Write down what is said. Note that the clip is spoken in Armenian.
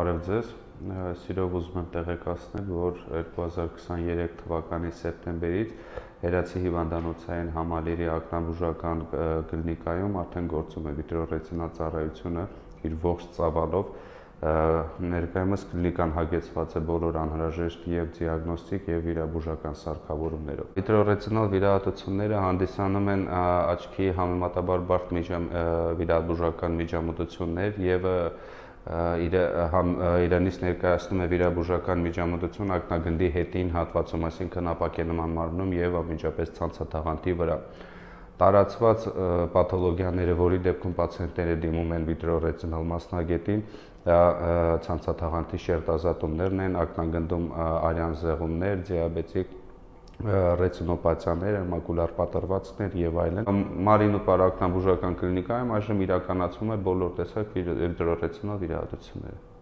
Բարև ձեզ, սիրով ուզում եմ տեղեկացնել, որ 2023 թվականի սեպտեմբերից Հերացի հիվանդանոցային համալիրի ակնաբուժական կլինիկայում արդեն գործում է վիտրոռետինալ ծառայությունը իր ողջ ծավալով, ներկայումս կլինիկան հագեցված է բոլոր անհրաժեշտ եւ դիագնոստիկ եւ վիրաբուժական սարքավորումներով։ Վիտրոռետինալ վիրահատությունները հանդիսանում են աչքի համեմատաբար բարդ վիրաբուժական միջամտություններ եւ իրանից ներկայացնում է վիրաբուժական միջամտություն ակնագնդի հետին հատվածում, այսինքն ապակենման մարմնում եւ անմիջապես ցանցաթաղանթի վրա։ Տարածված պաթոլոգիաները, որի դեպքում պացիենտները դիմում են վիտրոռետինալ մասնագետին, դա ցանցաթաղանթի շերտազատումներն են, ակնագնդում արյան զեղումներ, դիաբետիկ ռետինոպաթիաներ, մակուլար պատրվածքներ եւ այլն։ Մարինուպար ակնաբուժական կլինիկայում այժմ իրականացվում է բոլոր տեսակ վիտրոռետինալ վիրահատությունները։